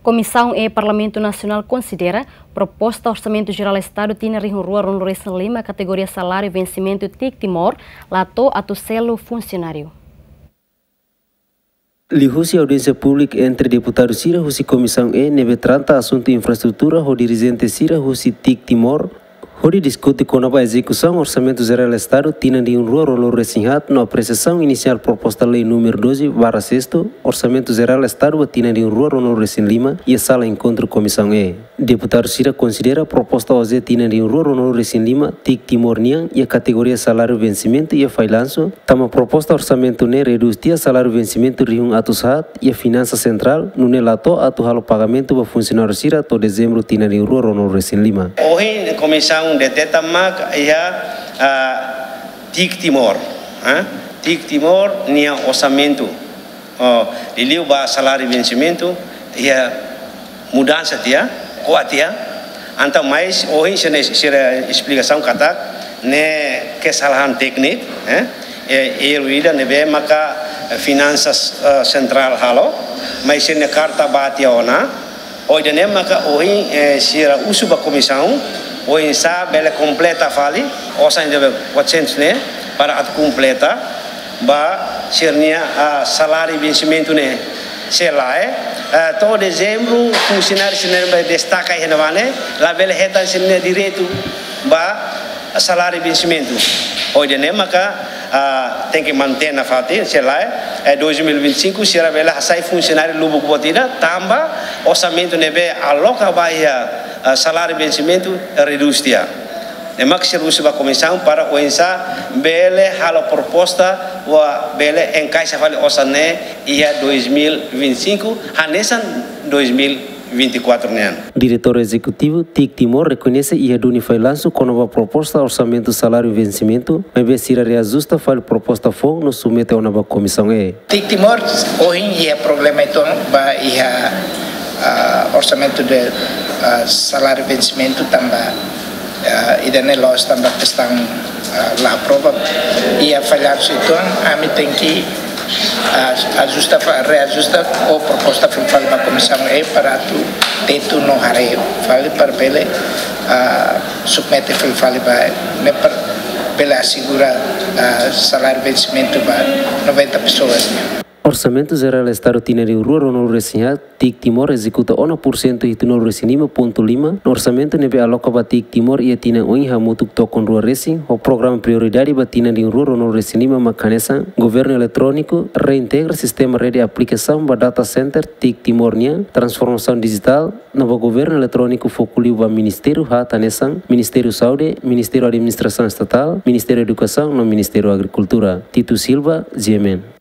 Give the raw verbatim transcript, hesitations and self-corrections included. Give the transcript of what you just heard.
Komisaun E Parlamentu Nasionál konsidera proposta Orsamentu Jerál Estadu tinan rihun rua ruanulu resin lima kategoria saláriu vensimentu TIC Timor la to'o atu selu funsionáriu. Liuhusi audiénsia públika entre deputadu sira husi Komisaun E ne'ebé trata asuntu infraestrutura ho dirijente sira husi TIC Timor, hodi diskute kona-ba ezekusaun Orsamentu Jerál Estadu tinan rihun rua ruanulu resin haat no apresiasaun inisiál proposta lei númeru doze barra sexto, Orsamentu Jerál Estadu ba tinan rihun rua ruanulu resin lima, iha sala enkontru Komisaun E. Deputadu sira konsidera proposta O J tinan rihun rua ruanulu resin lima, TIC Timor nian, iha kategoria saláriu vensimentu iha fallansu, tanba proposta orsamentu ne'e redús tiha saláriu vensimentu rihun atus haat iha Finansa Sentrál, nune'e la to'o atu halo pagamentu ba funsionáriu sira to'o Dezembru tinan rihun rua ruanulu resin lima. Ohin Komisaun deteta mak iha, ah, TIC Timor, ah, TIC Timor nia orsamentu. Oh, liuliu ba saláriu vensimentu, iha mudansa tiha, ko'a tiha. Entaun mais ohin sira, sira esplikasaun katak ne'e kesalahan tékniku, eh? E, erru ida ne'ebé maka Finansa, eh, Sentrál halo, mais sira-nia karta ba tiha ona. Ho ida-ne'e maka ohin, eh, sira husu ba Komisaun, oinsá bele kompleta fali, osan ida be quatrocentos ne'e, para atu kompleta ba sira-nia, ah, saláriu vensimentu ne'e. Se lae, eh, to'o Dezembru, funsionáriu sira ne'ebé destaka iha ne'ebá ne'e, labele hetan sira-nia direitu ba saláriu vensimentu. Ho ida-ne'e maka, ah, tenke mantein nafatin, se lae, eh, dois mil e vinte e cinco, sira bele hasai funsionáriu lubuk boot ida, tanba orsamentu ne'ebé aloka ba iha, ah, saláriu vensimentu redús tiha. Ne'e mak sira husu ba Komisaun para oinsá bele halo proposta, hodi bele enkaixa fali osan ne'e iha dois mil e vinte e cinco, hanesan dois mil e vinte e quatro nian. Diretór Ezekutivu TIC Timor rekoñese iha duni fallansu kona-ba proposta orsamentu saláriu vensimentu, maibé sira reajusta fali proposta foun no submete ona ba Komisaun E. TIC Timor ohin iha problema uitoan ba iha, ah, orsamentu de, ah, saláriu vensimentu tanba, ah, ida-ne'e loos tanba kestaun, ah, la aprova. Iha fallansu uitoan, ami tenke, ah, ajusta fa-, reajusta ho proposta fila fali ba Komisaun E para atu tetu no haree fali para bele, ah, submete fila fali ba ne'e para bele asegura, ah, saláriu vensimentu ba noventa pessoas nian. Orsamentu Jerál Estadu tinan rihun rua ruanulu resin haat, TIC Timor ezekuta ona pursentu hitunulu resin lima pontu lima, no orsamentu ne'ebé aloka ba TIC Timor iha tinan oin hamutuk tokon rua resin, ho programa prioridade ba tinan rihun rua ruanulu resin lima mak hanesan, governu eletróniku, reintegra sistema rede aplikasaun ba data center TIC Timor nian, transformasaun dijitál, no ba governu eletróniku foku liu ba ministériu haat hanesan, Ministériu Saúde, Ministériu Administrasaun Estatál, Ministériu Edukasaun no Ministériu Agrikultura. Tito Silva, G M N.